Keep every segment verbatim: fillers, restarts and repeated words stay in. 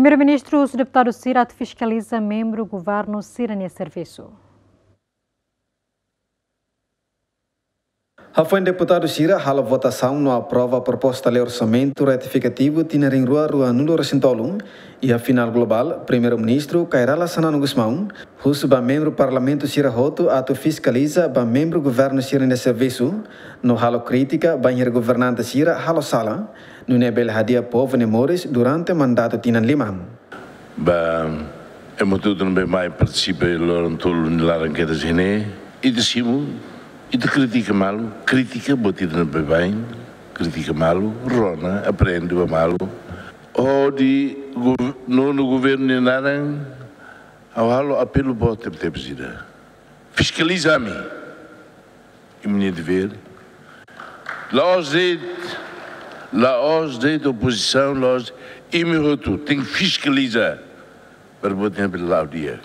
Primeiru-Ministru husu deputadu sira atu fiskaliza membru governu sira-nia servisu. Hafoin deputadu sira halo votasaun no aprova proposta lei orsamentu retifikativu tinan rihun rua ruanulu resin tolu iha finál globál, Primeiru-Ministru Kay Rala Xanana Gusmão husu ba membru parlamentu sira hotu atu fiskaliza ba membru governu sira-nia servisu no halo krítika bainhira governante sira halo sala, nune'e bele hadi'a povu nia moris durante mandatu tinan lima. Ba ema hotu ne'ebé mai partisipa iha loron tolu nia laran kedas ne'e, ita simu, ita kritika malu, kritika buat ida ne'ebé baibain, kritika malu, rona, aprende ba malu. Hodi gov-, nonu governu nia naran, ha'u halo apelu boot tebetebes ida. Fiskaliza ami. Imi-nia devér. La'ós de'it, la'ós de'it opozisaun, la'ós, imi hotu tenke fiskaliza. Para buat ne'e bele la'o di'ak.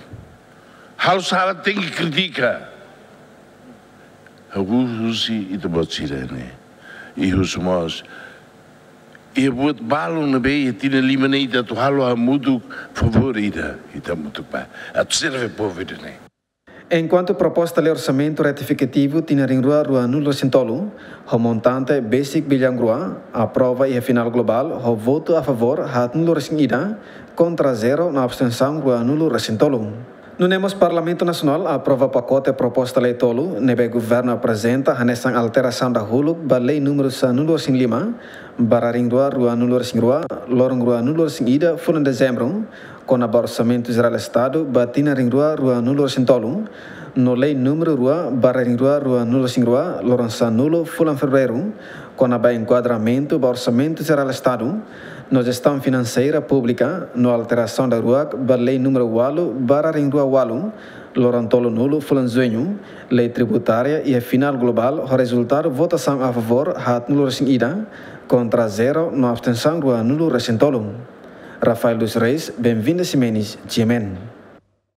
Halo sala tenke kritika. Ha'u husu ita-boot sira-ne'e. I husu mós. Iha buat balun ne'ebé iha tinan lima ne'e ita atu halo hamutuk favór ida. Ita hamutuk ba. Atu serve povu ida-ne'e. Enkuantu proposta lei orsamentu retifikativu tinan rihun rua ruanulu resin tolu, ho montante besik billaun rua, aprova iha finál globál, ho votu a favór haatnulu resin ida, kontra zero no abstensaun ruanulu resin tolu. Nune'e mós Parlamentu Nasionál aprova pakote proposta lei tolu, ne'ebé governu aprezenta hanesan alterasaun dahuluk ba lei númeru sanulu resin lima, barra rihun rua ruanulu resin rua, loron ruanulu resin ida, fulan Dezembru, kona-ba Orsamentu Jerál Estadu ba tinan rihun rua ruanulu resin tolu, no lei númeru rua barra rihun rua ruanulu resin rua, loron sanulu, fulan Fevereiru, kona-ba enkuadramentu ba Orsamentu Jerál Estadu, no jestaun finanseira públika, no alterasaun daruak ba lei númeru ualu barra rihun rua ualu, loron tolunulu, fulan Juñu, lei tributária iha finál globál, ho rezultadu votasaun a favór haatnulu resin ida, kontra zero no abstensaun ruanulu resin tolu. Rafael dos Reis, Benvinda Ximenes, G M N.